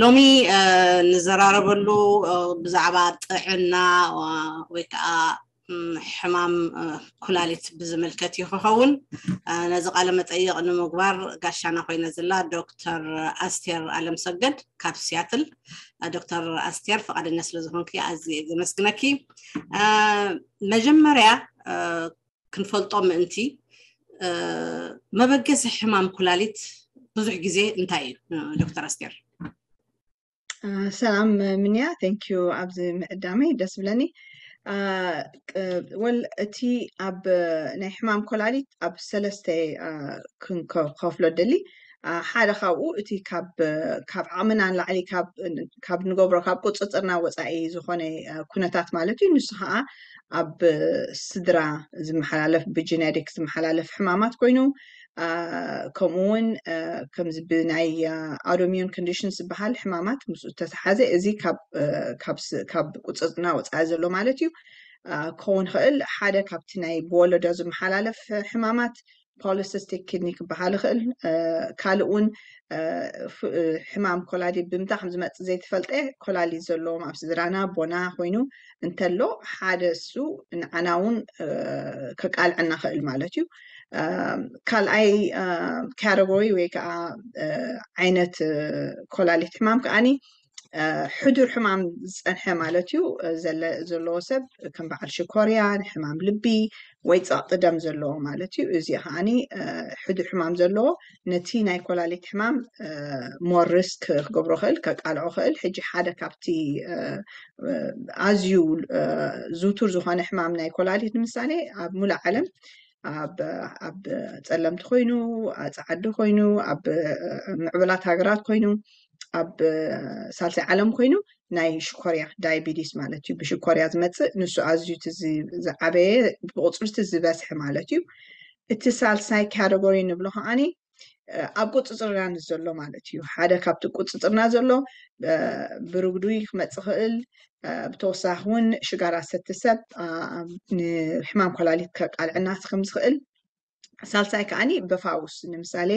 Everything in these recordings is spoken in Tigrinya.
ሎሚ ንዘራረበሉ ብዛዕባ ጥዕና ወይ ከዓ ሕማም ኩላሊት ብዝምልከት እዩ ክኸውን። ነዚ ቃለ መጠይቕ ንምግባር ጋሻና ኮይነ ዘላ ዶክተር ኣስቴር ኣለምሰገድ ካብ ሲያትል። ዶክተር ኣስቴር፣ ፈቓደኛ ስለ ዝኾንኪ ኣዝየ ዘመስግነኪ። መጀመርያ ክንፈልጦ ምእንቲ፣ መበገሲ ሕማም ኩላሊት ብዙሕ ግዜ እንታይ እዩ? ዶክተር ኣስቴር። ሰላም ምንያ፣ thank you ኣብዚ ምዕዳመይ ደስ ብለኒ። ወል እቲ ኣብ ናይ ሕማም ኮላሊት ኣብ ሰለስተ ክንከፍሎ ደሊ። ሓደ ካብኡ እቲ ካብ ዓቕምና ንላዕሊ ካብ ንገብሮ ካብ ቁፅፅርና ወፃኢ ዝኾነ ኩነታት ማለት እዩ። ንሱ ከዓ ኣብ ስድራ ዝመሓላለፍ ብጀነቲክ ዝመሓላለፍ ሕማማት ኮይኑ፣ ከምኡ እውን ከምዚ ብናይ ኣውቶሚዩን ኮንዲሽን ዝበሃል ሕማማት ምስ ዝተተሓዘ እዚ ካብ ቁፅፅርና ወፃኢ ዘሎ ማለት እዩ። ክኸውን ይኽእል። ሓደ ካብቲ ናይ ብወለዶ ዝመሓላለፍ ሕማማት ፖሊሲስቲክ ኪድኒ ክበሃል ይኽእል። ካልእ እውን ሕማም ኮላሊት ብምንታይ ከም ዝመፅእ ዘይተፈልጠ ኮላሊት ዘለዎም ኣብ ስድራና ቦና ኮይኑ እንተሎ ሓደ እሱ ንዓና እውን ከቃልዐና ይኽእል ማለት እዩ። ካልኣይ ካተጎሪ ወይ ከዓ ዓይነት ኮላሊት ሕማም ከዓኒ ሕዱር ሕማም ዝፀንሐ ማለት እዩ። ዘለዎ ሰብ ከም በዓል ሽኮርያ፣ ሕማም ልቢ ወይ ፀቕጢ ደም ዘለዎ ማለት እዩ። እዚ ከዓኒ ሕዱር ሕማም ዘለዎ ነቲ ናይ ኮላሊት ሕማም ሞር ሪስክ ክገብሮ ክእል ከቃልዖ ክእል። ሕጂ ሓደ ካብቲ ኣዝዩ ዝውቱር ዝኾነ ሕማም ናይ ኮላሊት ንምሳሌ ኣብ ሙሉእ ዓለም ኣብ ጸለምቲ ኮይኑ፣ ኣብ ጸዓዲ ኮይኑ፣ ኣብ ምዕቡላት ሃገራት ኮይኑ፣ ኣብ ሳልሳይ ዓለም ኮይኑ ናይ ሽኮርያ ዳይቢቲስ ማለት እዩ። ብሽኮርያ ዝመፅእ ንሱ ኣዝዩ ዝዓበየ ብቁፅሪ ዝበዝሐ ማለት እዩ። እቲ ሳልሳይ ካተጎሪ ንብሎ ከዓኒ ኣብ ቁፅፅርና ዘሎ ማለት እዩ። ሓደ ካብቲ ቁፅፅርና ዘሎ ብርጉዲ ክመፅእ ክእል። ብተወሳኺ እውን ሽጋራ ዝሰቲ ሰብ ንሕማም ኮላሊት ከቃልዐና ከም ዝኽእል። ሳልሳይ ከዓኒ ብፋውስ ንምሳሌ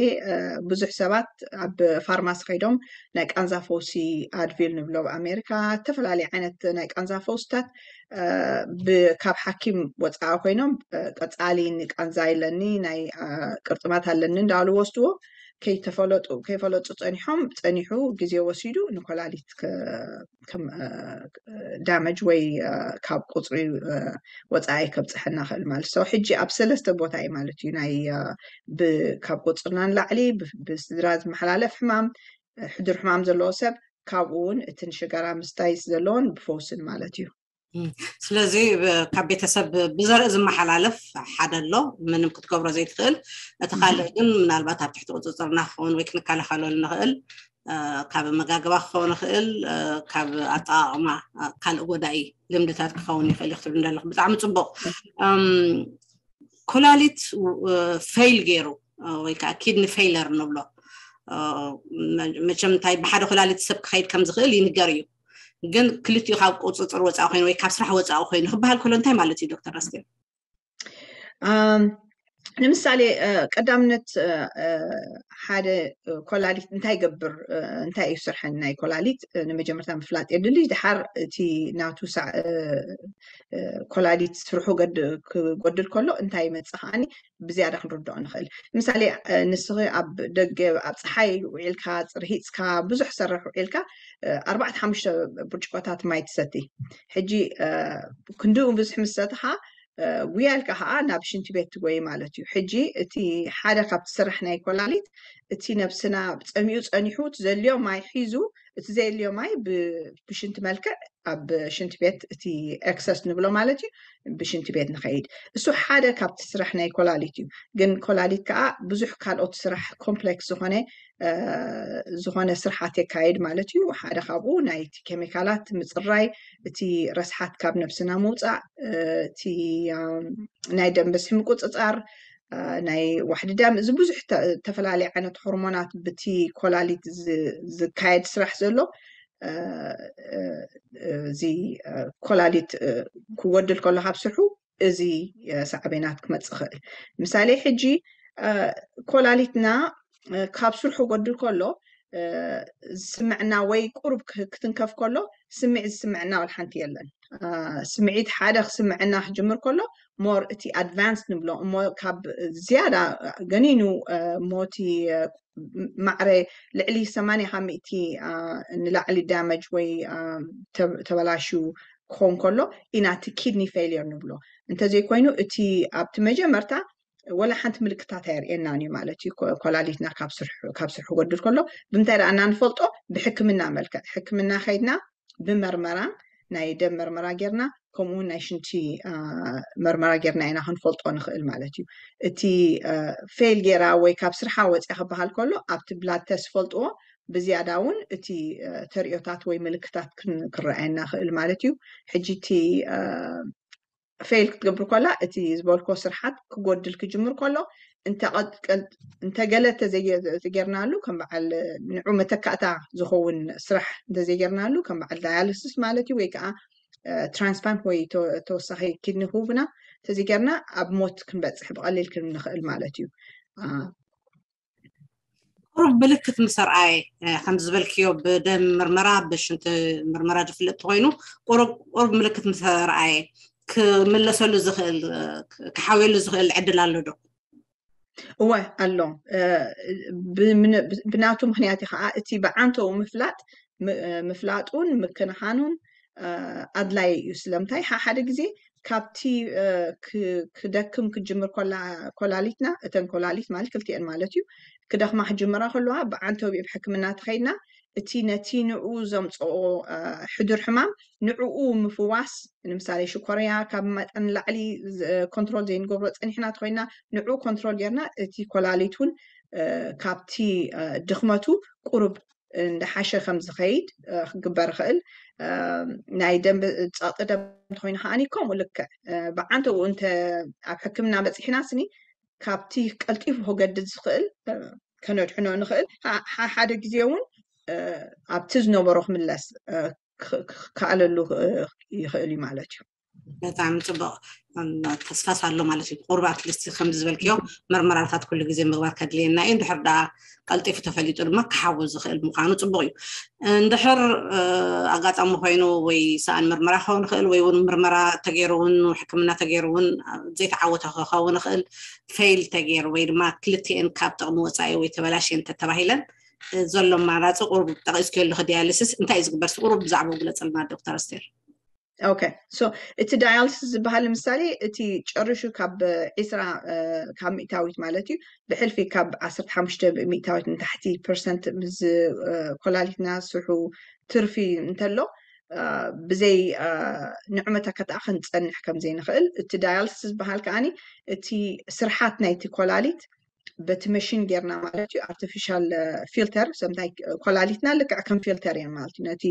ብዙሕ ሰባት ኣብ ፋርማሲ ከይዶም ናይ ቃንዛ ፈውሲ ኣድቪል ንብሎ ኣብ ኣሜሪካ ዝተፈላለዩ ዓይነት ናይ ቃንዛ ፈውስታት ካብ ሓኪም ወፃኢ ኮይኖም ቀፃሊ ንቃንዛ ኣለኒ ናይ ቅርጥማት ኣለኒ እንዳሉ ወስድዎ ከይተፈለጡ ከይፈለጡ ፀኒሖም ፀኒሑ ግዜ ወሲዱ ንኮላሊት ከም ዳመጅ ወይ ካብ ቁፅሪ ወፃኢ ከብፅሐና ክእል ማለት ሰው ሕጂ ኣብ ሰለስተ ቦታ እዩ ማለት እዩ ናይ ካብ ቁፅርና ንላዕሊ ብስድራ ዝመሓላለፍ ሕማም ሕዱር ሕማም ዘለዎ ሰብ ካብኡ እውን እቲ ንሽጋራ ምስታይ ዘለዎን ብፈውስን ማለት እዩ። ስለዚ ካብ ቤተሰብ ብዘርኢ ዝመሓላለፍ ሓደ ኣሎ ምንም ክትገብሮ ዘይትኽእል። እቲ ካልእ ግን ምናልባት ኣብ ትሕቲ ቁፅፅርና ክኸውን ወይ ክንከላኸለሉ ንኽእል ካብ ኣመጋግባ ክኸውን ይኽእል፣ ካብ ኣጠቓቕማ ካልእ ጎዳኢ ልምድታት ክኸውን ይኽእል እዩ ክትብል እንደለኹ ብጣዕሚ ፅቡቕ። ኮላሊት ፌይል ገይሩ ወይ ከዓ ኪድኒ ፌይለር ንብሎ መቸም እንታይ ብሓደ ኮላሊት ሰብ ክኸይድ ከም ዝኽእል ይንገር እዩ። ግን ክልቲኡ ካብ ቁፅፅር ወፃኢ ኮይኑ ወይ ካብ ስራሕ ወፃኢ ኮይኑ ክበሃል ከሎ እንታይ ማለት እዩ ዶክተር ኣስቴር? ንምሳሌ ቀዳምነት ሓደ ኮላሊት እንታይ ይገብር እንታይ እዩ ስርሐን ናይ ኮላሊት ንመጀመርታ ምፍላጥ የድሊ። ድሓር እቲ ናቱ ኮላሊት ስርሑ ክጎድል ከሎ እንታይ ይመፅእ ከዓኒ ብዝያዳ ክንርድኦ ንኽእል። ምሳሌ ንስኺ ኣብ ደገ ኣብ ፀሓይ ውዒልካ ፅርሂፅካ ብዙሕ ሰርሕ ውዒልካ ኣርባዕተ ሓሙሽተ ብርጭቆታት ማይ ትሰቲ። ሕጂ ክንድኡ ብዙሕ ምስ ሰትኻ ውያልካ ከዓ ናብ ሽንቲ ቤት ትጎይ ማለት እዩ። ሕጂ እቲ ሓደ ካብቲ ስራሕ ናይ ኮላሊት እቲ ነብስና ፀሚኡ ፀኒሑ እቲ ዘድልዮ ማይ ሒዙ እቲ ዘየድልዮ ማይ ብሽንቲ መልክዕ ኣብ ሽንቲ ቤት እቲ ኤክሰስ ንብሎ ማለት እዩ ብሽንቲ ቤት ንኸይድ። እሱ ሓደ ካብቲ ስራሕ ናይ ኮላሊት እዩ። ግን ኮላሊት ከዓ ብዙሕ ካልኦት ስራሕ ኮምፕሌክስ ዝኾነ ዝኾነ ስርሓት የካይድ ማለት እዩ። ሓደ ካብኡ ናይቲ ኬሚካላት ምፅራይ፣ እቲ ረስሓት ካብ ነብስና ምውፃእ፣ እቲ ናይ ደም በዝሒ ምቁፅፃር፣ ናይ ዋሕዲ ደም፣ እዚ ብዙሕ ዝተፈላለየ ዓይነት ሆርሞናት ብቲ ኮላሊት ዝካየድ ስራሕ ዘሎ እዚ ኮላሊት ክጎድል ከሎ ካብ ስርሑ እዚ ሳዕቤናት ክመፅእ ይኽእል። ምሳሌ ሕጂ ኮላሊትና ካብ ስርሑ ክጎድል ከሎ ዝስምዕና ወይ ቁሩብ ክትንከፍ ከሎ ስምዒት ዝስምዕና ወላ ሓንቲ የለን። ስምዒት ሓደ ክስምዕና ክጅምር ከሎ ሞር እቲ ኣድቫንስ ንብሎ እሞ ካብ ዝያዳ ገኒኑ ሞቲ ማዕረ ልዕሊ ሰማንያ ካብ ሚእቲ ንላዕሊ ዳመጅ ወይ ተበላሽዩ ክኸውን ከሎ ኢና እቲ ኪድኒ ፌልየር ንብሎ። እንተዘይኮይኑ እቲ ኣብቲ መጀመርታ ወላ ሓንቲ ምልክታት ኣየርእየናን እዩ ማለት እዩ። ኮላሊትና ካብ ስርሑ ክጎድል ከሎ ብምንታይ ደኣ እና ንፈልጦ? ብሕክምና መልክዕ ሕክምና ከይድና ብመርመራ ናይ ደም መርመራ ጌርና ከምኡ ናይ ሽንቲ መርመራ ጌርና ኢና ክንፈልጦ ንኽእል ማለት እዩ። እቲ ፌል ጌራ ወይ ካብ ስርሓ ወፅያ ክበሃል ከሎ ኣብቲ ብላድ ተስት ፈልጥዎ ብዝያዳ እውን እቲ ተርእዮታት ወይ ምልክታት ክረኣየና ክእል ማለት እዩ። ሕጂ እቲ ፌል ክትገብር ከላ እቲ ዝበልኮ ስርሓት ክጎድል ክጅምር ከሎ እንተገለ ተዘጌርናሉ ከም በዓል ንዑ መተካእታ ዝኸውን ስራሕ እንተዘይጌርናሉ ከም በዓል ዳያልስስ ማለት እዩ ወይ ከዓ ትራንስፕላንት ወይ ተወሳኺ ኪድኒ ክህቡና እንተዘይጌርና ኣብ ሞት ክንበፅሕ ብቐሊል ክንብል ንኽእል ማለት እዩ። ቁሩብ ምልክት ምስ ኣርኣየ ከም ዝበልክዮ ብደም ምርመራ ብሽንቲ ምርመራ ዝፍለጥ ተኮይኑ ቁሩብ ምልክት ምስ ኣርኣየ ክምለሰሉ ዝኽእል ክሓውየሉ ዝኽእል ዕድል ኣሎ ዶ? እወ ኣሎ። ብናቱ ምክንያት እዩ ከዓ እቲ ብዓንተው ምፍላጥ ምፍላጡን ምክንኻኑን ኣድላይ እዩ። ስለምንታይ ሓደ ግዜ ካብቲ ክደክም ክጅምር ኮላሊትና እተን ኮላሊት ማለት ክልቲአን ማለት እዩ ክደክማ ክጅምራ ከለዋ ብዓንተው ብሕክምና ተኸይድና እቲ ነቲ ንኡ ዘምፅኦ ሕዱር ሕማም ንዕኡ ምፍዋስ ንምሳሌ ሽኮርያ ካብ መጠን ላዕሊ ኮንትሮል ዘይንገብሮ ፀኒሕና ተኮይና ንዕኡ ኮንትሮል ጌርና እቲ ኮላሊት እውን ካብቲ ድኽመቱ ቁሩብ እንዳሓሸ ከም ዝኸይድ ክግበር ይኽእል። ናይ ደም ፀቕጢ ደም እንተኮይኑ ከዓኒ ከምኡ ልክዕ ብዓንተኡ እንተ ኣብ ሕክምና በፂሕና ስኒ ካብቲ ቀልጢፉ ክገድድ ዝኽእል ከነድሕኖ ንኽእል። ሓደ ግዜ እውን ኣብቲ ዝነበሮ ክምለስ ክከኣለሉ ይኽእል እዩ ማለት እዩ። በጣዕሚ ፅቡቅ። ተስፋስ ኣሎ ማለት እዩ። ቁሩብ ኣትሊስት ከም ዝበልክዮ መርመራታት ኩሉ ግዜ ምግባር ከድልየና እዩ። እንድሕር ደኣ ቀልጢፉ ተፈሊጡ ድማ ክሓዊ ዝኽእል ምዃኑ ፅቡቅ እዩ። እንድሕር ኣጋጣሚ ኮይኑ ወይ ሰኣን ምርመራ ክኸውን ይኽእል ወይ እውን ምርመራ ተገይሩ እውን ሕክምና ተገይሩ እውን ዘይተዓወተ ክኸውን ይኽእል፣ ፌል ተገይሩ ወይ ድማ ክልቲኤን ካብ ጥቕሚ ወፃኢ ወይ ተበላሽየን ተተባሂለን ዘሎ ኣማራፂ ቁሩብ ጠቂስክዮ ኣለኹ። ዲያሊሲስ እንታይ እዩ ዝግበር? ቁሩብ ብዛዕባኡ ግለፅልና ዶክተር ኣስቴር። ኦኬ ሶ እቲ ዳያልስስ ዝበሃል ንምሳሌ እቲ ጨሪሹ ካብ ዒስራ ካብ ሚእታዊት ማለት እዩ ብሕልፊ ካብ ዓሰርተ ሓሙሽተ ሚእታዊት ንታሕቲ ፐርሰንት ምስ ኮላሊትና ስርሑ ትርፊ እንተሎ ብዘይ ንዑ መተካእታ ክንፀንሕ ከም ዘይንኽእል እቲ ዳያልስስ ዝበሃል ከዓኒ እቲ ስርሓት ናይቲ ኮላሊት በቲ መሽን ጌርና ማለት እዩ ኣርቲፊሻል ፊልተር ሰምታይ ኮላሊትና ልክዕ ከም ፊልተር እየን ማለት እዩ ነቲ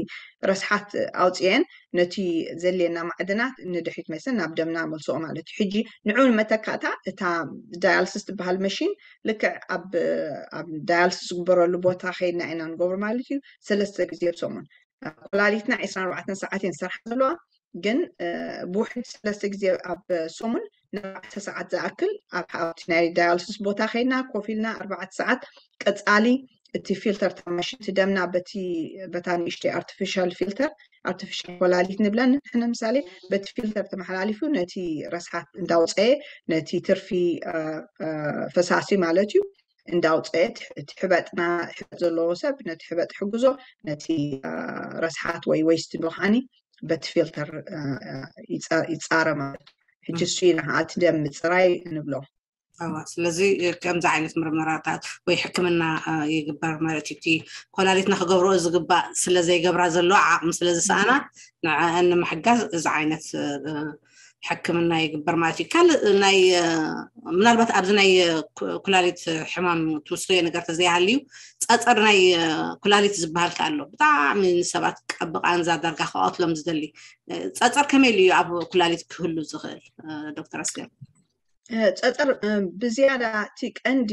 ረስሓት ኣውፅኤን ነቲ ዘልየና ማዕድናት ንድሕሪት መሰን ናብ ደምና መልስኦ ማለት እዩ ሕጂ ንዑ ንመተካእታ እታ ዳያልስስ ትበሃል መሽን ልክዕ ኣብ ዳያልስስ ዝግበረሉ ቦታ ከይድና ኢና ንገብሮ ማለት እዩ ሰለስተ ግዜ ብሰሙን ኮላሊትና ዕስራን ኣርባዕተን ሰዓት እየን ዝሰርሓ ዘለዋ ግን ብውሕድ ሰለስተ ግዜ ኣብ ሰሙን ንኣርባዕተ ሰዓት ዝኣክል ኣብ ሓብቲ ናይ ዳያልስስ ቦታ ከይና ኮፍ ኢልና ኣርባዕተ ሰዓት ቀፃሊ እቲ ፊልተር ታማሽንቲ ደምና በቲ በታ ንእሽተይ ኣርቲፊሻል ፊልተር ኣርቲፊሻል ኮላሊት ንብለን ንሕነ ምሳሌ በቲ ፊልተር ተመሓላሊፉ ነቲ ረስሓት እንዳውፀየ ነቲ ትርፊ ፈሳሲ ማለት እዩ እንዳውፀየ እቲ ሕበጥና ሕበጥ ዘለዎ ሰብ ነቲ ሕበጥ ሕግዞ ነቲ ረስሓት ወይ ወይስት ብልሓኒ በቲ ፊልተር ይፃረ ማለት እዩ ሕጂ እሱ ኢና እቲ ደም ምፅራይ ንብሎ ስለዚ ከምዚ ዓይነት ምርመራታት ወይ ሕክምና ይግበር ማለት እዩ እቲ ኮላሊትና ክገብርኦ ዝግባእ ስለዘይገብራ ዘለዋ ዓቕሚ ስለዝሰኣና ንዕአን ንምሕጋዝ እዚ ዓይነት ሕክምና ይግበር ማለት እዩ ካልእ ናይ ምናልባት ኣብዚ ናይ ኩላሊት ሕማም ትውስኽዮ ነገር ተዘይሃልዩ ፀፀር ናይ ኩላሊት ዝበሃል ከ ኣሎ ብጣዕሚ ንሰባት ቀብቓንዛ ዳርጋ ክቐትሎም ዝደሊ ፀፀር ከመይ ኢሉ እዩ ኣብ ኩላሊት ክህሉ ዝኽእል ዶክተር ኣስቴር ጸጠር ብዝያዳ እቲ ቀንዲ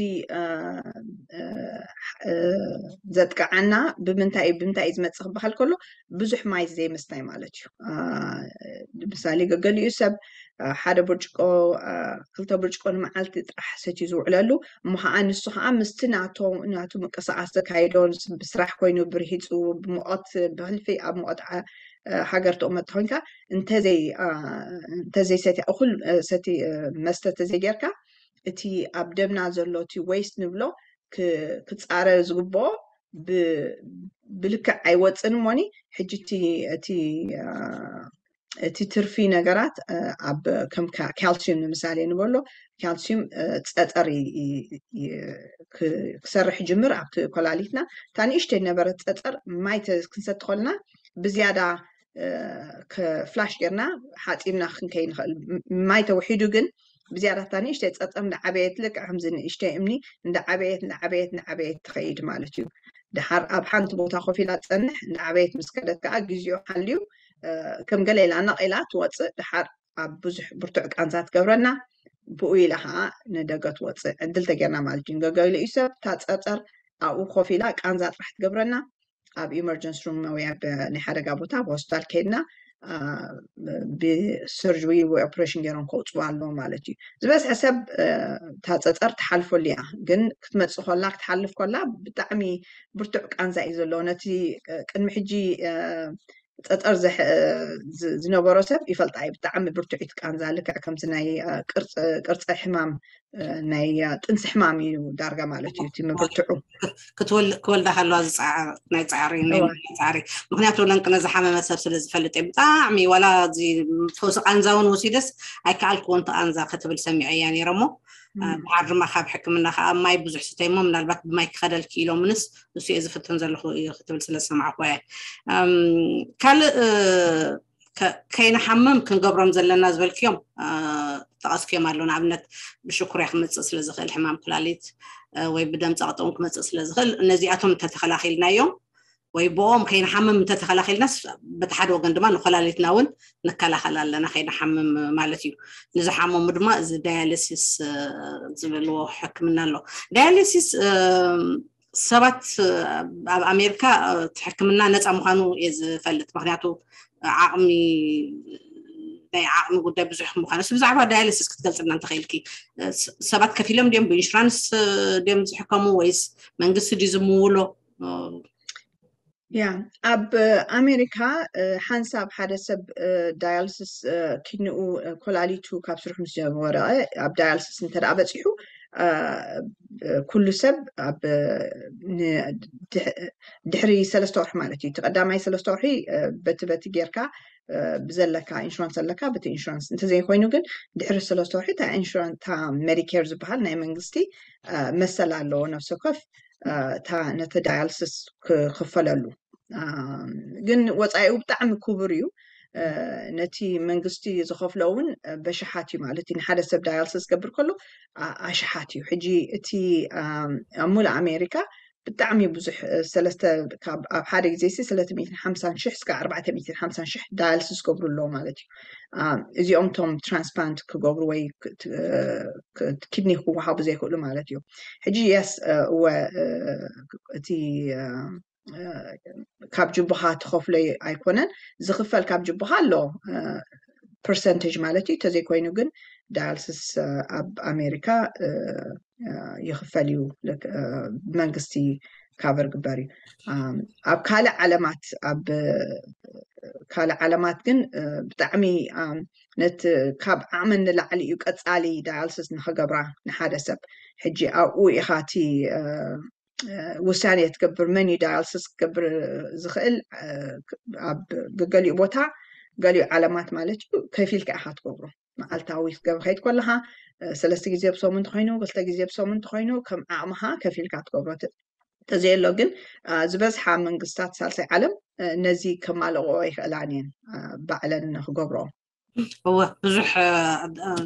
ዘጥቅዓና ብምንታይ ብምንታይ እዩ ዝመፅእ ክበሃል ከሎ ብዙሕ ማይ ዘይምስታይ ማለት እዩ። ምሳሌ ገገሊኡ ሰብ ሓደ ብርጭቆ ክልተ ብርጭቆ ንመዓልቲ ጥራሕ ሰትዩ ዝውዕለሉ እሞ ከዓ ንሱ ከዓ ምስቲ ናቱ ምቅስቃስ ዘካይዶ ብስራሕ ኮይኑ ብርሂፁ ብሙቐት ብሕልፊ ኣብ ሙቐት ሃገር ተቐመጥ ኮይንካ እንተዘይ እንተዘይ ሰቲ እኹል ሰቲ መስተ ተዘይጌርካ እቲ ኣብ ደምና ዘሎ እቲ waste ንብሎ ክፃረ ዝግብኦ ብልክዕ ኣይወፅን እሞኒ ሕጂ እቲ እቲ ትርፊ ነገራት ኣብ ከም ካልሲዩም ንምሳሌ ንበሎ ካልሲዩም ፀጠር ክሰርሕ ጅምር ኣብቲ ኮላሊትና እታ ንእሽተይ ነበረት ፀጠር ማይ ክንሰቲ ከልና ብዝያዳ ፍላሽ ጌርና ሓፂብና ክንከይ ንኽእል ማይ ተውሒዱ ግን ብዝያዳ እታ ንእሽተይ ፀጠር እንዳዓበየት ልክዕ ከምዚ ንእሽተይ እምኒ እንዳዓበየት እንዳዓበየት እንዳዓበየት ትኸይድ ማለት እዩ። ድሓር ኣብ ሓንቲ ቦታ ኮፍ ኢላ ትፀንሕ እንዳዓበየት ምስ ከደት ከዓ ግዜኡ ሓልዩ ከም ገለ ኢላ ነቕ ኢላ ትወፅእ ድሓር ኣብ ብዙሕ ብርቱዕ ቃንዛ ትገብረና ብኡ ኢላ ከዓ ንደገ ትወፅእ ዕድል ተጌርና ማለት እዩ። ገገሊኡ ሰብ እታ ፀርፀር ኣብኡ ኮፍ ኢላ ቃንዛ ጥራሕ ትገብረና ኣብ emergency room ወይ ኣብ ናይ ሓደጋ ቦታ ኣብ ሆስፒታል ከይድና ብሰርጅሪ ወይ ኦፕሬሽን ገይሮም ከውፅዋ ኣለዎ ማለት እዩ። ዝበዝሐ ሰብ እታ ፀፀር ትሓልፈሉ እያ፣ ግን ክትመፅእ ከላ ክትሓልፍ ከላ ብጣዕሚ ብርቱዕ ቃንዛ እዩ ዘለዎ። ነቲ ቅድሚ ሕጂ ፀፀር ዝነበሮ ሰብ ይፈልጣ እዩ። ብጣዕሚ ብርቱዒት ቃንዛ ልክዕ ከምዚ ናይ ቅርፀ ሕማም ናይ ጥንሲ ሕማም እዩ ዳርጋ ማለት እዩ እቲ ምብርትዑ። ክወልዳ ከለዋ ዝፃዕር ናይ ፃዕሪ ናይ ፃዕሪ ምክንያቱ ለንቅነ ዝሓመመ ሰብ ስለ ዝፈልጥ እየ ብጣዕሚ ዋላ እዚ ፈውሲ ቃንዛ እውን ወሲደስ ኣይከኣልክዎ እንተ ቃንዛ ክትብል ሰሚዐ እያ ነይረ እሞ ድሓር ድማ ካብ ሕክምና ከዓ ማይ ብዙሕ ስተይ እሞ ምናልባት ብማይ ክኸደልኪ ኢሎምንስ እሱ እየ ዝፍትን ዘለኹ እዩ ክትብል ስለ ዝሰማዕኩ እየ። ካልእ ከይንሓምም ክንገብሮም ዘለና ዝበልክዮም ጠቐስክዮም ኣሎ። ንኣብነት ብሽኩርያ ክመፅእ ስለ ዝኽእል ሕማም ኩላሊት ወይ ብደም ፀቕጠውን ክመፅእ ስለ ዝኽእል እነዚኣቶም እንተተኸላኺልናዮም ወይ ብኦም ከይንሓምም እንተተኸላኺልናስ በቲ ሓደ ወገን ድማ ንኮላሊትና እውን ንከላኸል ኣለና ከይንሓምም ማለት እዩ። ንዝሓመሙ ድማ እዚ ዳያሊሲስ ዝብልዎ ሕክምና ኣሎ። ዳያሊሲስ ሰባት ኣብ ኣሜሪካ እቲ ሕክምና ነፃ ምዃኑ እየ ዝፈልጥ። ምክንያቱ ዓቕሚ ናይ ዓቕሚ ጉዳይ ብዙሕ ምዃኑ ስ ብዛዕባ ዳያሊሲስ ክትገልፅልና እንተኽእልኪ ሰባት ከፊሎም ድዮም ብኢንሹራንስ ድዮም ዝሕከሙ ወይስ መንግስቲ ድዩ ዝምውሎ? ያ ኣብ ኣሜሪካ ሓንሳብ ሓደ ሰብ ዳያልስስ ኪድንኡ ኮላሊቱ ካብ ስርሑ ምስ ጀመረ ኣብ ዳያልስስ እንተ በፂሑ ኩሉ ሰብ ኣብ ድሕሪ ሰለስተ ወርሒ ማለት እዩ። እቲ ቀዳማይ ሰለስተ ወርሒ በቲ በቲ ጌርካ ብዘለካ ኢንሹራንስ ኣለካ በቲ ኢንሹራንስ እንተዘይኮይኑ ግን ድሕሪ ሰለስተ ወርሒ እታ ኢንሹራንስ እታ ሜዲኬር ዝበሃል ናይ መንግስቲ መሰል ኣለዎ ነፍሲ ወከፍ እታ ነቲ ዳያልስስ ክኽፈለሉ ግን ወፃኢኡ ብጣዕሚ ክቡር እዩ። ነቲ መንግስቲ ዝኸፍሎ እውን በሽሓት እዩ ማለት እዩ። ንሓደ ሰብ ዳያልስስ ዝገብር ከሎ ኣሽሓት እዩ። ሕጂ እቲ ኣብ ሙሉእ ኣሜሪካ ብጣዕሚ ብዙሕ ሰለስተ ኣብ ሓደ ግዜ ሲ ሰለስተ ሚእትን ሓምሳን ሽሕ እስከ ኣርባዕተ ሚእትን ሓምሳን ሽሕ ዳያልስስ ዝገብሩ ኣለዉ ማለት እዩ። እዚኦም ቶም ትራንስፕላንት ክገብሩ ወይ ኪድኒ ክወሃቡ ዘይክእሉ ማለት እዩ። ሕጂ የስ እወ እቲ ካብ ጅቡኻ ትኸፍሎ ኣይኮነን ዝኽፈል ካብ ጅቡኻ ኣሎ ፐርሰንቴጅ ማለት እዩ። ተዘይኮይኑ ግን ዳያልስስ ኣብ ኣሜሪካ ይኽፈል እዩ። መንግስቲ ካቨር ግበር እዩ። ኣብ ካልእ ዓለማት ኣብ ካልእ ዓለማት ግን ብጣዕሚ ነቲ ካብ ዓቕመን ንላዕሊ እዩ ቀፃሊ ዳያልስስ ንኸገብራ ንሓደ ሰብ። ሕጂ ኣብኡ ኢኻ እቲ ውሳኔ ትገብር መን እዩ ዳያልስስ ክገብር ዝኽእል ኣብ ገገሊኡ ቦታ ገሊኡ ዓለማት ማለት እዩ ከፊልካ ኢኻ ትገብሮ። መዓልታዊ ክትገብር ከይድ ከለኻ ሰለስተ ግዜ ብሰሙን እንተኮይኑ ክልተ ግዜ ብሰሙን እንተኮይኑ ከም ዓቕምኻ ከፊልካ ትገብሮ። ተዘየሎ ግን ዝበዝሓ መንግስታት ሳልሳይ ዓለም ነዚ ከማልቕኦ ይኽእላን እየን ባዕለን ክገብርኦ። እወ ብዙሕ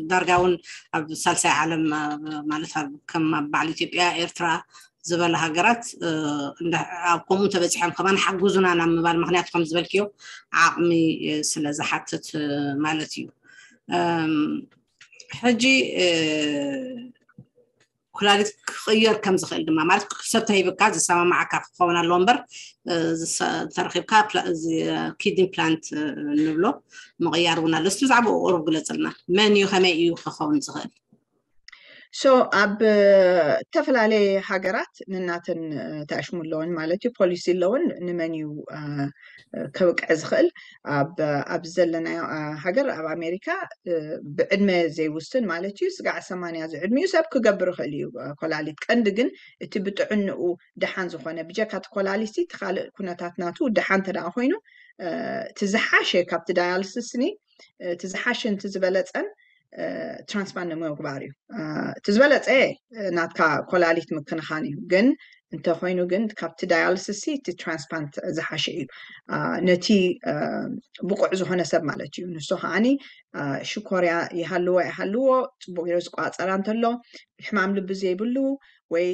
ዳርጋ እውን ኣብ ሳልሳይ ዓለም ማለት ከም ኣብ በዓል ኢትዮጵያ ኤርትራ ዝበለ ሃገራት ኣብ ከምኡ እንተበፂሖም ከማን ሓግዙና ናብ ምባል ምክንያቱ ከም ዝበልክዮ ዓቕሚ ስለ ዝሓትት ማለት እዩ። ሕጂ ኩላሊት ክቕየር ከም ዝኽእል ድማ ማለት ሰብ ተሂብካ ዝሰማማዓካ ክኸውን ኣለዎ እምበር ተረኺብካ ኪድኒ ፕላንት ንብሎ ምቕያር እውን ኣሎ። እስቲ ብዛዕባኡ ቁሩብ ግለፅልና። መን እዩ፣ ከመይ እዩ ክኸውን ዝኽእል? So ኣብ ዝተፈላለየ ሃገራት ንናተን ተኣሽሙ ኣለውን ማለት እዩ፣ ፖሊሲ ኣለውን ንመን እዩ ከብቅዕ ዝኽእል። ኣብ ዘለናዮ ሃገር ኣብ ኣሜሪካ ብዕድመ ዘይውስን ማለት እዩ፣ ስጋዕ ሰማንያ ዝዕድሚኡ ሰብ ክገብር ይኽእል እዩ ኮላሊት። ቀንዲ ግን እቲ ብጥዕንኡ ደሓን ዝኾነ ብጀካ እቲ ኮላሊት እቲ ካልእ ኩነታት ናቱ ደሓን እንተ ደኣ ኮይኑ እቲ ዝሓሸ ካብቲ ዳያልስስ ኒ እቲ ዝሓሸ ንቲ ዝበለፀን ትራንስፕላንት ንምግባር እዩ። እቲ ዝበለፀ ናትካ ኮላሊት ምክንኻን እዩ፣ ግን እንተኮይኑ ግን ካብቲ ዳያልስስ እቲ ትራንስፕላንት ዝሓሸ እዩ፣ ነቲ ብቁዕ ዝኾነ ሰብ ማለት እዩ። ንሱ ከዓኒ ሽኮርያ ይሃልዎ ይሃልዎ፣ ፅቡቅ ገይሩ ዝቋፀራ እንተሎ፣ ሕማም ልቢ ዘይብሉ ወይ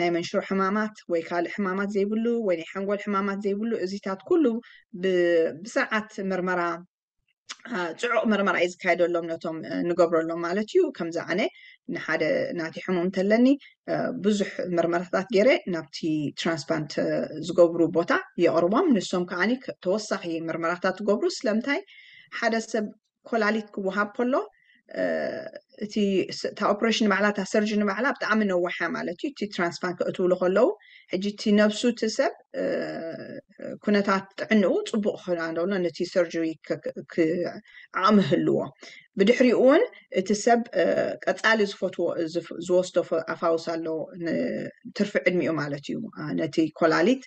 ናይ መንሽሮ ሕማማት ወይ ካልእ ሕማማት ዘይብሉ ወይ ናይ ሓንጎል ሕማማት ዘይብሉ፣ እዚታት ኩሉ ብስርዓት ምርመራ፣ ፅዑቕ ምርመራ እዩ ዝካየደሎም ነቶም ንገብረሎም ማለት እዩ። ከምዚ ኣነ ንሓደ ናቲ ሕሙም እንተለኒ ብዙሕ ምርመራታት ገይረ ናብቲ ትራንስፕላንት ዝገብሩ ቦታ የቕርቦም። ንሶም ከዓኒ ተወሳኺ ምርመራታት ትገብሩ። ስለምንታይ ሓደ ሰብ ኮላሊት ክወሃብ ከሎ እቲ እታ ኦፕሬሽን ባዕላ እታ ሰርጅን ባዕላ ብጣዕሚ ነዋሓ ማለት እዩ። እቲ ትራንስፕላንት ክእትውሉ ከለዉ ሕጂ እቲ ነብሱ እቲ ሰብ ኩነታት ጥዕንኡ ፅቡቅ ክኾና እንደሎ ነቲ ሰርጀሪ ዓቕሚ ህልዎ። ብድሕሪኡ እውን እቲ ሰብ ቀፃሊ ዝፈትዎ ዝወስዶ ኣፋውስ ኣሎ፣ ትርፊ ዕድሚኡ ማለት እዩ። ነቲ ኮላሊት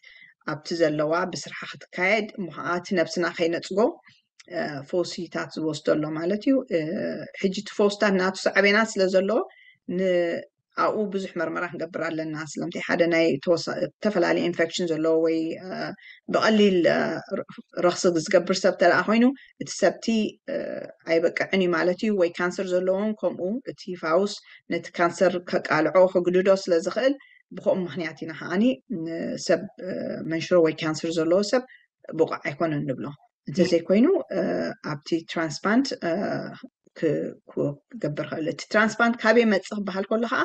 ኣብቲ ዘለዋ ብስርሓ ክትካየድ እሞ ከዓ እቲ ነብስና ከይነፅጎ ፈውሲታት ዝወስዶ ኣሎ ማለት እዩ። ሕጂ እቲ ፈውስታት ናቱ ሳዕቤናት ስለ ዘለዎ ኣብኡ ብዙሕ መርመራ ክንገብር ኣለና። ስለምንታይ ሓደ ናይ ዝተፈላለዩ ኢንፌክሽን ዘለዎ ወይ ብቐሊል ረክሲ ዝገብር ሰብ ተደኣ ኮይኑ እቲ ሰብቲ ኣይበቅዕን እዩ ማለት እዩ። ወይ ካንሰር ዘለዎም ከምኡ እቲ ፋውስ ነቲ ካንሰር ከቃልዖ ክግድዶ ስለ ዝኽእል ብከምኡ ምክንያት ኢና ከዓኒ ንሰብ መንሽሮ ወይ ካንሰር ዘለዎ ሰብ ብቑዕ ኣይኮነን ንብሎ። እንተዘይኮይኑ ኣብቲ ትራንስፕላንት ክገብር ክእል። እቲ ትራንስፕላንት ካበይ መፅእ ክበሃል ከሎ ከዓ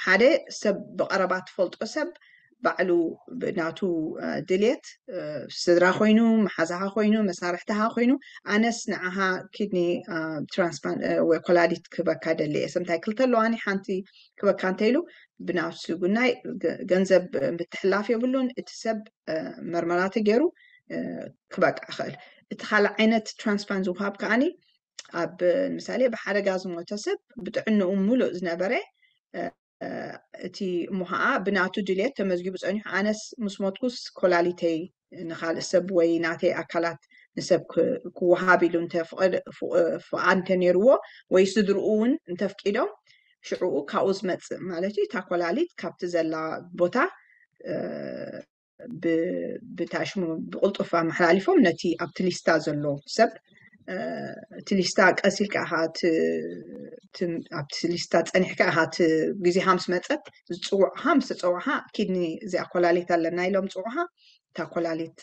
ሓደ ሰብ ብቐረባ ትፈልጦ ሰብ ባዕሉ ናቱ ድልየት ስድራ ኮይኑ መሓዛኻ ኮይኑ መሳርሕትኻ ኮይኑ ኣነስ ንዓኻ ኪድኒ ትራንስፕላንት ወይ ኮላሊት ክበካ ደሊ እየ ሰምታይ ክልተ ኣለዋኒ ሓንቲ ክበካ እንተኢሉ ብናፍሱ ጉናይ ገንዘብ ምትሕላፍ የብሉን። እቲ ሰብ መርመራ ተገይሩ ክበቅዕ ይኽእል። እቲ ካልእ ዓይነት ትራንስፕላንት ዝውሃብ ከዓኒ ኣብ ምሳሌ ብሓደጋ ዝሞተ ሰብ ብጥዕንኡ ሙሉእ ዝነበረ እቲ እሞ ከዓ ብናቱ ድልየት ተመዝጊቡ ፀኒሑ ኣነስ ምስ ሞትኩስ ኮላሊተይ ንካልእ ሰብ ወይ ናተይ ኣካላት ንሰብ ክወሃብ ኢሉ ፍቃድ እንተነይርዎ ወይ ስድርኡ እውን እንተፍቂዶም ሽዕኡ ካብኡ ዝመፅእ ማለት እዩ እታ ኮላሊት ካብቲ ዘላ ቦታ ብታሽሙ ብቁልጡፍ ኣመሓላሊፎም ነቲ ኣብቲ ሊስታ ዘሎ ሰብ እቲ ሊስታ ቀስ ኢልካ ኢኻ ኣብቲ ሊስታ ፀኒሕካ ኢኻ እቲ ግዜኻ ምስ መፀት ዝፅውዕኻ ምስ ተፀውዕኻ ኪድኒ እዚኣ ኮላሊት ኣለና ኢሎም ፅውዕኻ እታ ኮላሊት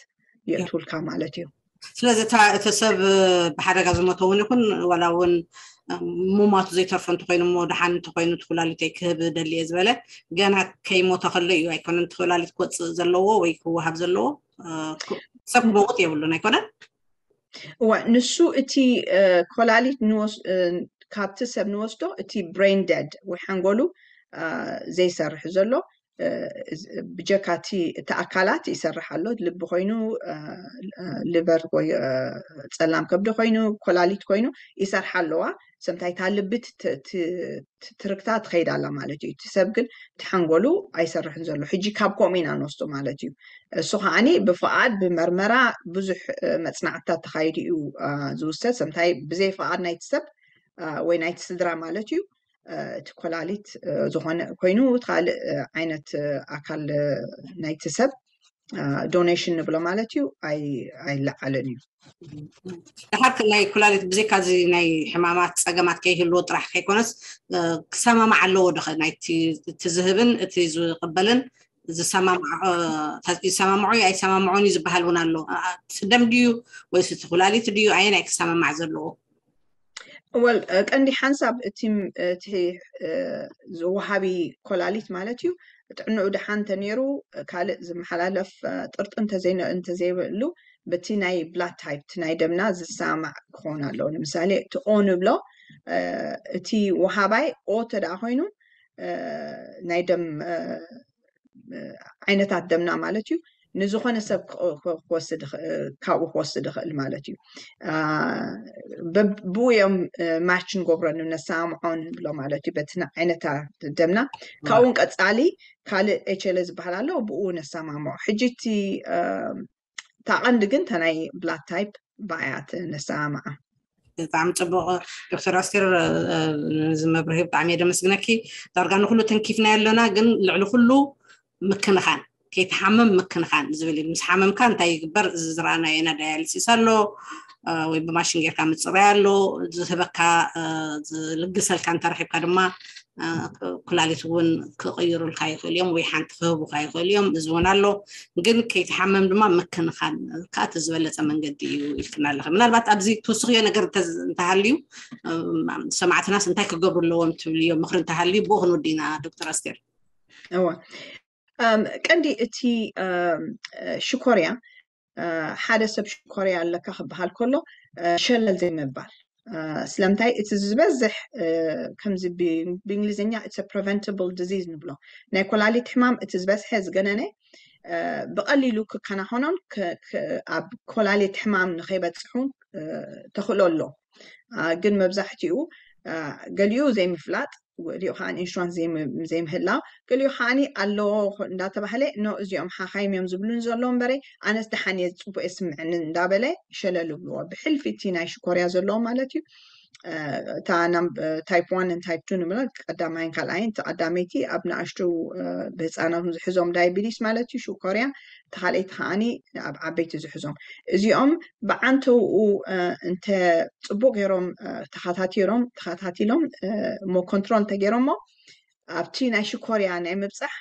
የእትውልካ ማለት እዩ። ስለዚ እቲ ሰብ ብሓደጋ ዝሞተ እውን ይኹን ዋላ እውን ሙማቱ ዘይተርፎ እንተኮይኑ እሞ ደሓን እንተኮይኑ እቲ ኩላሊተይ ክህብ ደሊ እየ ዝበለ ገና ከይሞተ ከሎ እዩ ኣይኮነን እቲ ኩላሊት ክወፅእ ዘለዎ ወይ ክወሃብ ዘለዎ ሰብ ክመውት የብሉን ኣይኮነን። እዋ ንሱ እቲ ኮላሊት ካብቲ ሰብ ንወስዶ እቲ ብሬን ደድ ወይ ሓንጎሉ ዘይሰርሕ ዘሎ ብጀካቲ እቲ ኣካላት ይሰርሕ ኣሎ ልቢ ኮይኑ ሊቨር ወይ ፀላም ከብዲ ኮይኑ ኮላሊት ኮይኑ ይሰርሓ ኣለዋ። ሰምታይ እታ ልቢ ትርክታ ትኸይድ ኣላ ማለት እዩ። እቲ ሰብ ግን እቲ ሓንጎሉ ኣይሰርሕን ዘሎ ሕጂ ካብ ከምኡ ኢና ንወስዶ ማለት እዩ። እሱ ከዓኒ ብፍቓድ ብመርመራ ብዙሕ መፅናዕትታት ተኻይዱ እዩ ዝውሰድ። ሰምታይ ብዘይ ፍቓድ ናይቲ ሰብ ወይ ናይቲ ስድራ ማለት እዩ እቲ ኮላሊት ዝኾነ ኮይኑ እቲ ካልእ ዓይነት ኣካል ናይቲ ሰብ ዶኔሽን ንብሎ ማለት እዩ ኣይለዓልን እዩ። ድሓር ናይ ኩላሊት ብዘይካ እዚ ናይ ሕማማት ፀገማት ከይህልዎ ጥራሕ ከይኮነስ ክሰማማዕ ኣለዎ ዶ ናይቲ ዝህብን እቲ ዝቕበልን ዝሰማምዖ ይሰማምዖ እዩ ኣይሰማምዖን እዩ ዝበሃል እውን ኣሎ። ደም ድዩ ወይስ እቲ ኩላሊት ድዩ ኣየናይ ክሰማማዕ ዘለዎ? ወል ቀንዲ ሓንሳብ እቲ እቲ ዝወሃቢ ኮላሊት ማለት እዩ። ጥዕንኡ ደሓን እንተነይሩ ካልእ ዝመሓላለፍ ጥርጢ እንተዘይብሉ በቲ ናይ ብላድ ታይፕ ናይ ደምና ዝሰማማዕ ክኸውን ኣለዎ። ንምሳሌ እቲ ኦ ንብሎ እቲ ወሃባይ ኦ ተደኣ ኮይኑ ናይ ደም ዓይነታት ደምና ማለት እዩ ንዝኾነ ሰብ ካብኡ ክወስድ ካብኡ ክወስድ ይኽእል ማለት እዩ። ብኡ እዮም ማች ንገብሮ ነሰማምዖ ንብሎ ማለት እዩ በቲ ዓይነታት ደምና። ካብኡን ቀፃሊ ካልእ ኤች ኤል ዝበሃል ኣሎ ብኡ ነሰማምዖ። ሕጂ እቲ እታ ቀንዲ ግን እታ ናይ ብላድ ታይፕ ብኣያ ነሰማምዓ። ብጣዕሚ ፅቡቅ ዶክተር ኣስቴር፣ ነዚ መብርሂ ብጣዕሚ እየ ደመስግነኪ። ዳርጋ ንኩሉ ተንኪፍና ኣለና፣ ግን ልዕሊ ኩሉ ምክንኻን፣ ከይትሓምም ምክንኻን ዝብል እዩ። ምስ ሓመምካ እንታይ ይግበር? እዚ ዝረኣናዮ ኢና፣ ዳያሊሲስ ኣሎ ወይ ብማሽን ጌርካ ምፅራይ ኣሎ፣ ዝህበካ ዝልግሰልካ እንተረኪብካ ድማ ኩላሊት እውን ክቕይሩልካ ይኽእሉ እዮም ወይ ሓንቲ ክህቡካ ይኽእሉ እዮም። እዚ እውን ኣሎ፣ ግን ከይትሓመም ድማ ምክንኻን ከዓ እቲ ዝበለፀ መንገዲ እዩ ኢልክና ኣለኸ። ምናልባት ኣብዚ ትውስኽዮ ነገር እንተሃልዩ ሰማዕትናስ እንታይ ክገብሩ ኣለዎም ትብልዮ ምኽሪ እንተሃልዩ ብኡ ክንወዲ ኢና ዶክተር ኣስቴር። እወ ቀንዲ እቲ ሽኮርያ ሓደ ሰብ ሽኮርያ ኣለካ ክበሃል ከሎ ሸለል ዘይምባል። ስለምንታይ እቲ ዝበዝሕ ከምዚ ብእንግሊዝኛ it's a preventable disease ንብሎ ናይ ኮላሊት ሕማም እቲ ዝበዝሐ ዝገነነ ብቐሊሉ ክከናኸኖን ኣብ ኮላሊት ሕማም ንኸይበፅሑ ተኽእሎ ኣሎ። ግን መብዛሕትኡ ገሊኡ ዘይምፍላጥ፣ ገሊኡ ከዓ ኢንሹራንስ ዘይምህላው፣ ገሊኡ ከዓ ኣለዎ እንዳተባህለ ኖ እዚኦም ሓኻይም እዮም ዝብሉን ዘለዉ እምበረ ኣነስ ደሓን እየ ፅቡቅ የስምዕኒ እንዳበለ ሸለል ብልዎ። ብሕልፊ እቲ ናይ ሽኮርያ ዘለዎ ማለት እዩ። እታ ታይፕ ዋን ታይፕ ቱ ንብላ ቀዳማይን ካልኣይን፣ እቲ ቀዳመይቲ ኣብ ንኣሽቱ ብህፃናት ዝሕዞም ዳይቢቲስ ማለት እዩ ሽኮርያ፣ እቲ ካልኣይቲ ከዓኒ ኣብ ዓበይቲ ዝሕዞም። እዚኦም ብዓንተውኡ እንተ ፅቡቅ ገይሮም ተኸታቲሮም ተኸታቲሎም እሞ ኮንትሮል እንተገይሮሞ ኣብቲ ናይ ሽኮርያ ናይ ምብፃሕ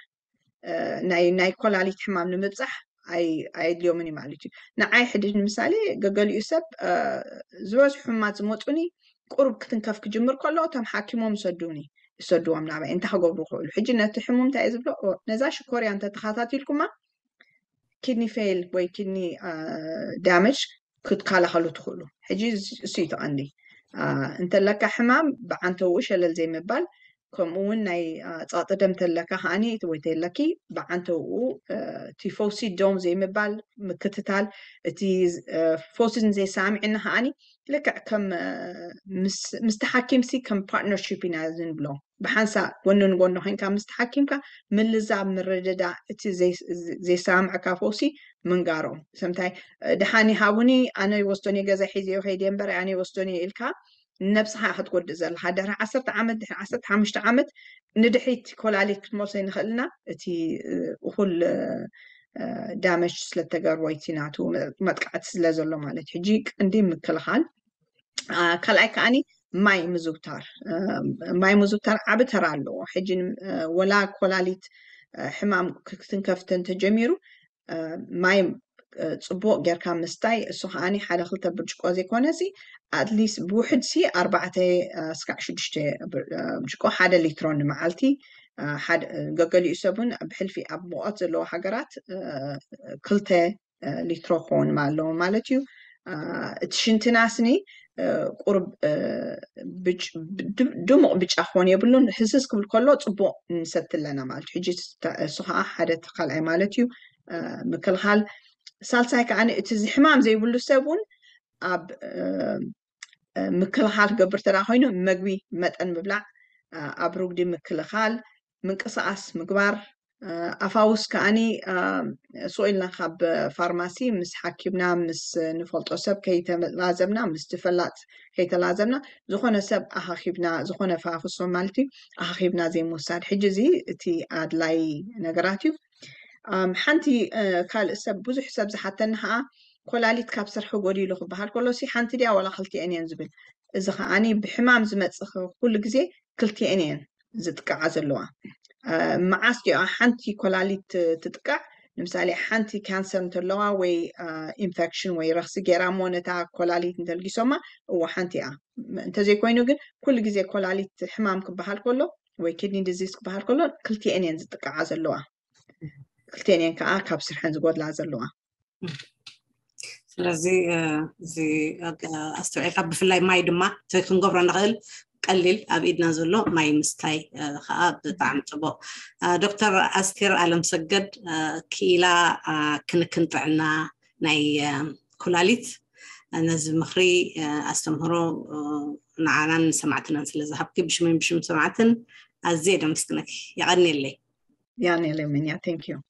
ናይ ናይ ኮላሊት ሕማም ንምብፃሕ ኣየድልዮምን እዩ ማለት እዩ። ንዓይ ሕድድ ንምሳሌ ገገሊኡ ሰብ ዝበዝሑ ሕማት ዝመፁኒ ቁሩብ ክትንከፍ ክጅምር ከሎ እቶም ሓኪሞም ይሰዱኒ ይሰድዎም ናባይ እንታይ ክገብሩ ክእሉ። ሕጂ ነቲ ሕሙም እንታይ ዝብሎ ነዛ ሽኮርያ እንተተኸታቲልኩማ ኪድኒ ፌል ወይ ኪድኒ ዳመጅ ክትከላኸሉ ትኽእሉ። ሕጂ እሱ እዩ ተቐንዲ። እንተለካ ሕማም ብዓንተውኡ ሸለል ዘይምባል፣ ከምኡ እውን ናይ ጸቕጢ ደም ተለካ ከዓኒ ወይ ተለኪ ብዓንተውኡ እቲ ፈውሲ ደም ዘይምባል ምክትታል፣ እቲ ፈውሲ ንዘይሰማምዐና ከዓኒ ልክዕ ከም ምስቲ ሓኪምሲ ከም ፓርትነርሺፕ ኢና ዝንብሎ። ብሓንሳእ ጎኒ ንጎኒ ኮይንካ ምስቲ ሓኪምካ ምልዛብ ምርድዳ እቲ ዘይሰማምዕካ ፈውሲ ምንጋሮም። ሰምታይ ደሓኒ ሃቡኒ ኣነ ይወስዶን እየ ገዛ ሒዘዮ ከይደ እምበር ኣነ ይወስዶን እየ ኢልካ ነብስኻ ክትጎድእ ዘለካ ድሕሪ ዓሰርተ ዓመት ድሕሪ ዓሰርተ ሓሙሽተ ዓመት ንድሕሪት ኮላሊት ክትመልሶ ይንኽእልና እቲ እኹል ዳመጅ ስለተገርቦ እቲ ናቱ መጥቃዕቲ ስለ ዘሎ ማለት ሕጂ ቀንዲ ምክልኻል ካልኣይ ከዓኒ ማይ ምዝውታር ማይ ምዝውታር ዓቢ ተራ ኣለዎ። ሕጂ ወላ ኮላሊት ሕማም ክትንከፍተ እንተጀሚሩ ማይ ፅቡቅ ጌርካ ምስታይ እሱ ከዓኒ ሓደ ክልተ ብርጭቆ ዘይኮነ ሲ ኣትሊስት ብውሕድ ሲ ኣርባዕተ ስካዕ ሽዱሽተ ብርጭቆ ሓደ ሊትሮ ንመዓልቲ ገገሊኡ ሰብን ብሕልፊ ኣብ ሙቐት ዘለዎ ሃገራት ክልተ ሊትሮ ክኸውን ኣለዎ ማለት እዩ። እቲ ሽንትና ስኒ ቁርብ ድሙቕ ብጫ ክኾን የብሉን። ህስስ ክብል ከሎ ፅቡቕ ንሰቲ ኣለና ማለት እዩ። ሕጂ እሱ ከዓ ሓደ እቲ ካልኣይ ማለት እዩ ምክልኻል። ሳልሳይ ከዓ እቲ ሕማም ዘይብሉ ሰብ እውን ኣብ ምክልኻል ክገብር ተዳ ኮይኑ መግቢ መጠን ምብላዕ፣ ኣብ ርጉዲ ምክልኻል፣ ምንቅስቃስ ምግባር፣ ኣፋውስ ከዓኒ ስቕ ኢልና ካብ ፋርማሲ ምስ ሓኪምና ምስ ንፈልጦ ሰብ ከይተላዘብና ምስቲ ፈላጥ ከይተላዘብና ዝኾነ ሰብ ኣኻኺብና ዝኾነ ፋፍሶ ማለት እዩ ኣኻኺብና ዘይምውሳድ። ሕጂ እዚ እቲ ኣድላይ ነገራት እዩ። ሓንቲ ካልእ ሰብ ብዙሕ ሰብ ዝሓተኒ ከዓ ኮላሊት ካብ ስርሒ ጎዲሉ ክበሃል ከሎ ሲ ሓንቲ ድያ ዋላ ክልቲኤን እየን ዝብል። እዚ ከዓኒ ብሕማም ዝመፅእ ኩሉ ግዜ ክልቲኤን እየን ዝጥቃዓ ዘለዋ። መዓስ ዲኣ ሓንቲ ኮላሊት ትጥቃዕ? ንምሳሌ ሓንቲ ካንሰር እንተለዋ ወይ ኢንፌክሽን ወይ ረኽሲ ገይራ እሞ ነታ ኮላሊት እንተልጊሶማ፣ እዎ ሓንቲ እያ። እንተዘይኮይኑ ግን ኩሉ ግዜ ኮላሊት ሕማም ክበሃል ከሎ ወይ ኪድኒ ዲዚዝ ክበሃል ከሎ ክልቲኤን እየን ዝጥቃዓ ዘለዋ። ክልቲኤን እየን ከዓ ካብ ስርሐን ዝጎድላ ዘለዋ። ስለዚ እዚ ኣስተውዒልካ፣ ብፍላይ ማይ ድማ ክንገብሮ ንኽእል ቀሊል ኣብ ኢድና ዘሎ ማይ ምስታይ ከዓ ብጣዕሚ ፅቡቅ። ዶክተር ኣስቴር ኣለምሰገድ፣ ክኢላ ክንክን ጥዕና ናይ ኩላሊት፣ ነዚ ምኽሪ ኣስተምህሮ ንዓናን ንሰማዕትናን ስለ ዝሃብኪ ብሽመን ብሽም ሰማዕትን ኣዝየ ደመስግነኪ። የቐንየለይ። ያኔ ለምኛ thank you።